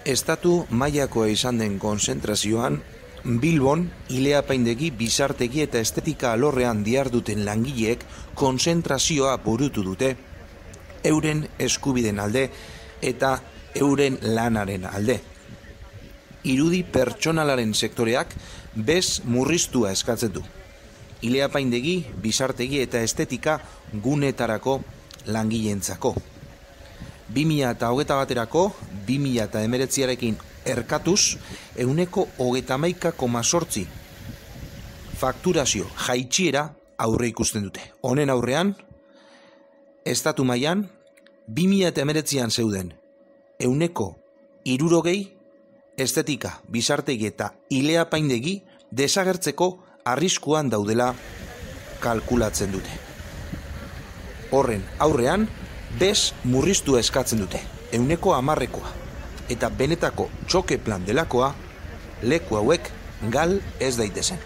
Estatu mailakoa izan den konzentrazioan, Bilbon, ile-apaindegi, bizartegi eta estetika alorrean diharduten langileek konzentrazioa burutu dute, euren eskubiden alde eta euren lanaren alde. Irudi pertsonalaren sektoreak bez murriztua eskatzen du. Ile-apaindegi, bizartegi eta estetika gunetarako langileentzako. 2021erako 2019arekin erkatuz 131,8 fakturazio jaitsiera aurre ikusten dute. Honen aurrean, estatu mailan 2019an zeuden 160 estetika, bizartegi eta ile-apaindegi desagertzeko arriskuan daudela kalkulatzen dute. Horren aurrean, bez murriztua eskatzen dute, 10%, eta benetako txoke plan delakoa leku hauek gal ez daitezen.